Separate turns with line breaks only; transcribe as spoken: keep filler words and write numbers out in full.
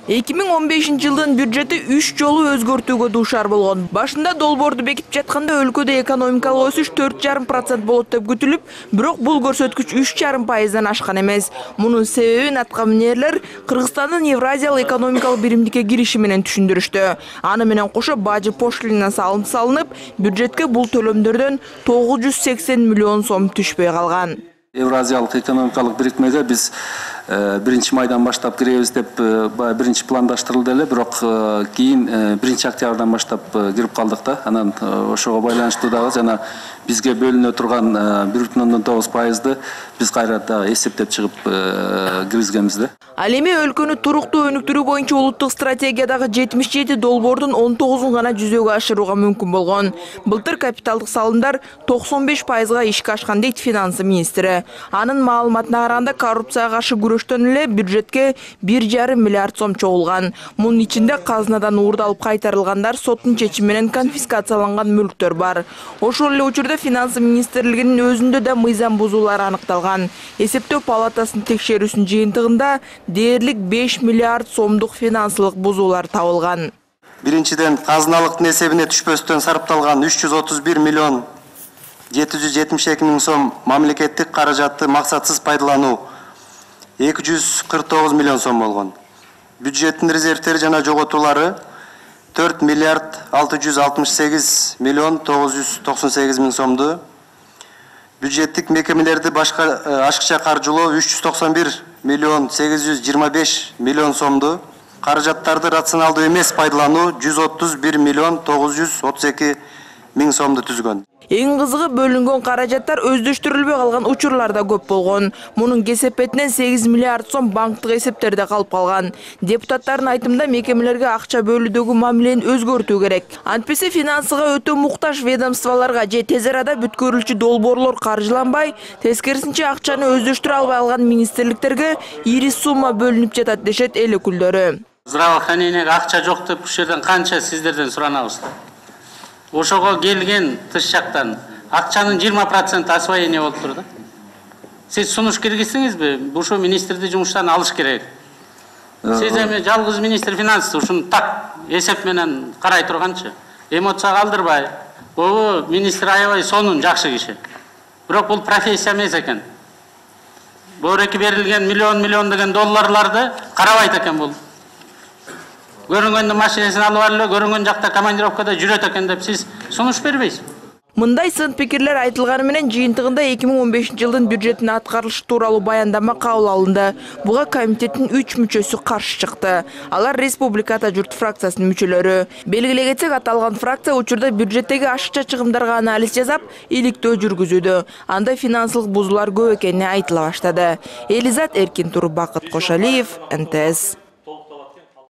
эки миң он бешинчи жылдын бюджети үч жолу өзгөртүүгө дуушар болгон. Башында долбоорду бекитип жатканда өлкөдө экономикалык өсүш төрт жарым процент болот деп күтүлүп, бирок бул көрсөткүч үч жарым пайыздан ашкан эмес. Мунун себебин атка минерлер Кыргызстандын Евразиялык экономикалык биримдикке кириши менен түшүндүрүштү. Аны менен кошо бажы пошлина салым салынып, бюджетке бул төлөмдөрдөн тогуз жүз сексен миллион сом түшпөй калган.
Евразиялык экономикалык бирикмеге биз биринчи майдан баштап киребиз деп биринчи пландаштырылды эле, бирок кийин биринчи октябрдан баштап кирип калдык да. Анан ошого байланыштуу дагы жана бизге бөлүнө турган бир бүтүн ондон тогуз пайызды биз кайра дагы эсептеп чыгып киргизгенбиз да.
Ал эми өлкөнү туруктуу өнүктүрүү боюнча улуттук стратегиядагы жетимиш жети долбоордун он тогузун гана жүзөгө ашырууга мүмкүн болгон. Былтыр капиталдык салымдар токсон беш пайызга ишке ашкан дейт финансы министри. Анын маалыматына караганда коррупцияга каршы күрөштөн эле бюджетке бир жарым миллиард сом чогулган. Мунун ичинде казынадан уурдалып кайтарылгандар, соттун чечими менен конфискацияланган мүлктөр бар. Ошол эле учурда финансы министрлигинин өзүндө да мыйзам бузуулар аныкталган. Эсептөө палатасынын текшерүүсүнүн жыйынтыгында дээрлик беш миллиард сомдук финансылык бузуулар табылган.
Биринчиден, казыналыктын эсебине түшпөстөн сарпталган үч жүз отуз бир миллион жети жүз жетимиш эки миң сом мамлекеттик каражатты максатсыз пайдалануу эки жүз кырк тогуз миллион сом болгон. Бюджеттин резервтери жана жоготуулары төрт миллиард алты жүз алтымыш сегиз миллион тогуз жүз токсон сегиз миң сомду. Бюджеттик мекемелерди башка ашыкча каржылоо үч жүз токсон бир миллион сегиз жүз жыйырма беш миллион сомду. Каражаттарды рационалдуу эмес пайдалануу жүз отуз бир миллион тогуз жүз отуз эки миң сомду түзгөн.
Эң кызыгы бөлүнгөн каражаттар өздөштүрүлбөй калган учурлар да көп болгон. Мунун кесепетинен сегиз миллиард сом банктык эсептерде калып калган. Депутаттардын айтымында мекемелерге акча бөлүүдөгү мамилени өзгөртүү керек. Антпесе финансыга өтө муктаж ведомстволорго же тез арада бүткөрүлчү долбоорлор каржыланбай, тескерисинче акчаны өздөштүрө албай калган министрликтерге ири сумма бөлүнүп жатат дешет эл өкүлдөрү.
Здравоохранениеге акча жок деп ушул жерден канча сиздерден суранабыз. Ошого келген тыш жактан акчанын жыйырма проценти освоение болуп тур да. Сиз сунуш киргиздиңизби? Ушул министрди жумуштан алыш керек. Сиз эми жалгыз министр финансы ушуну так эсеп менен карай турганчы, эмоция калтырбай, бул министр аябай сонун жакшы киши. Бирок бул профессия эмес экен. Бөөреки берилген миллион миллион деген долларларды карабайт экен бул. Көрүнгөндө машинесин алып алып, көрүнгөн жакта командировкада жүрөт экен деп сиз сунуш бербейсиз.
Мындай сын пикирлер айтылганы менен жыйынтыгында эки миң он бешинчи жылдын бюджетин аткарылышы тууралуу баяндама кабыл алынды. Буга комитеттин үч мүчөсү каршы чыкты. Алар Республиката журт фракциясынын мүчөлөрү. Белгилей кетсек, аталган фракция учурда бюджеттеги ашыкча чыгымдарга анализ жасап, иликтөө жүргүзүүдө. Анда финансылык бузуулар көп экени айтыла баштады. Элизат Эркин Тур, Бакыт Кошалиев, эн тэ эс.